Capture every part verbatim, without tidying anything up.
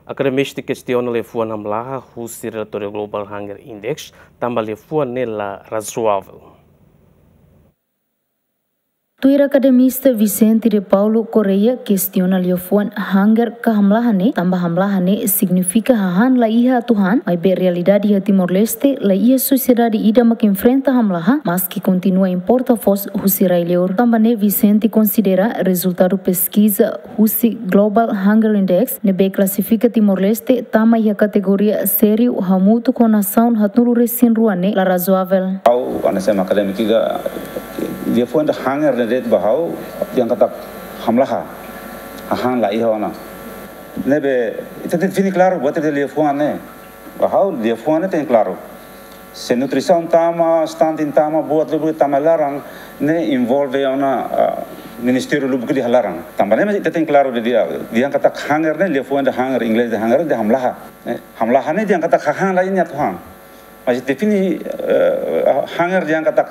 Akademista kestiona liafuan hamlaha husi relatóriu Global Hunger Index, tanba liafuan ne'e la razoável. Tuir akademista Vicente de Paulo Correia kestiona liafuan hunger ka hamlaha ne'e, tanba hamlaha ne'e signifika hahán la iha atu han, maibé realidade iha Timor-Leste la iha sosiedade ida mak enfrenta hamlaha, maski kontinua importa foos husi rai-liur. Tanba ne'e Vicente konsidera rezultadu peskiza husi Global Hunger Index ne'ebé klasifika Timor-Leste tama iha kategoria sériu hamutuk ho nasaun haatnulu resin rua ne'e la razoável. Ha'u, hanesan akadémiku ida, liafuan hunger ne'e de'it ba ha'u, dehan katak hamlaha, hahán la iha ona. Ne'ebé, ita define klaru, buat ida liafuan ne'e. Ba ha'u, liafuan ne'e tenke klaru. Se nutrisaun tama, stunting tama, buat lubuk tama laran, ne'e envolve ona, ah, ministériu lubuk iha laran. Tanba ne'e ita tenke klaru dehan, dehan katak hunger ne'e, liafuan hunger, inglés dehan hunger, dehan hamlaha. Ne'e, hamlaha ne'e dehan katak hahán la iha atu han. Mas define, eh, hunger dehan katak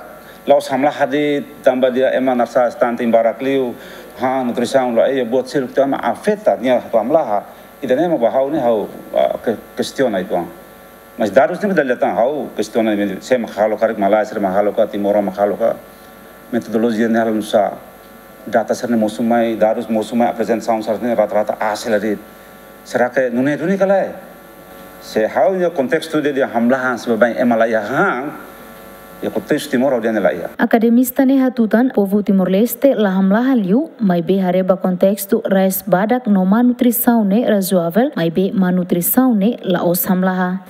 la'ós hamlaha de'it tanba dehan ema na'sá stunting barak liu, han nutrisaun la iha, buat seluk mak afeta nia atu hamlaha. Ida-ne'e mak ba ha'u ne'e ha'u, ah, ke-, kestiona uitoan. Mas dadus ne'e dala ida tan ha'u kestiona ne'e, sé mak halo, karik malae sira mak halo ka, timoroan mak halo ka, metodolojia ne'e halo nu'usá, data sira-ne'e mosu mai, dadus mosu mai, aprezentasaun sira-ne'e rata-rata hasil de'it. Será ke nune'e duni ka lae? Se ha'u-nia kontestu dehan hamlaha hanesan baibain ema la iha han, iha kontestu Timor ha'u dehan la iha. Akademista ne'e hatutan povu Timor-Leste la hamlaha liu, maibé haree ba kontestu rais badak no má nutrisaun ne'e razoável, maibé má nutrisaun ne'e la'ós hamlaha.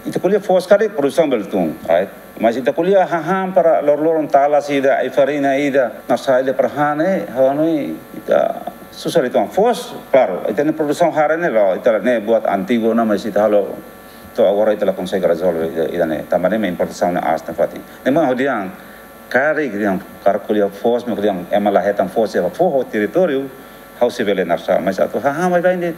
Ita ko'alia foos karik produsaun bele tun, right? Mas ita ko'alia hahán para loroloron, talas ida, ai-farina ida, na'sá ida para han ne'e, ha'u hanoin ita susar uitoan. Foos, klaru, ita-nia produsaun hare ne'e la'o, ita ne'e buat antigu ona, mas ita halo to'o agora ita la konsege rezolve ida, ida-ne'e. Tanba ne'e mak importasaun ne'e aas nafatin. Ne'e mak ha'u dehan, karik dehan, karik ko'alia foos, mak dehan ema la hetan foos, iha foho territóriu, ha'u sei bele na'sá, mas atu hahán baibain de'it,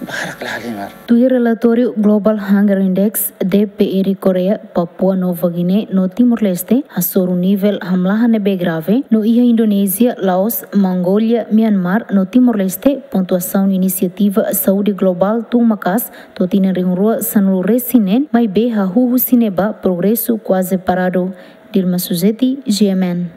barak la halimar. Tuir relatóriu Global Hunger Index, D P R Korea, Papua Nova Guiné no Timor-Leste hasoru nivel hamlaha ne'ebé grave, no iha Indonézia, Laos, Mongólia, Myanmar no Timor-Leste, pontuasaun Inisiativa Saúde Globál tun maka'as to'o tinan rihun rua sanulu resin neen, maibé hahú husi ne'ebá progresu kuaze paradu. Dilma Suzeti, G M N.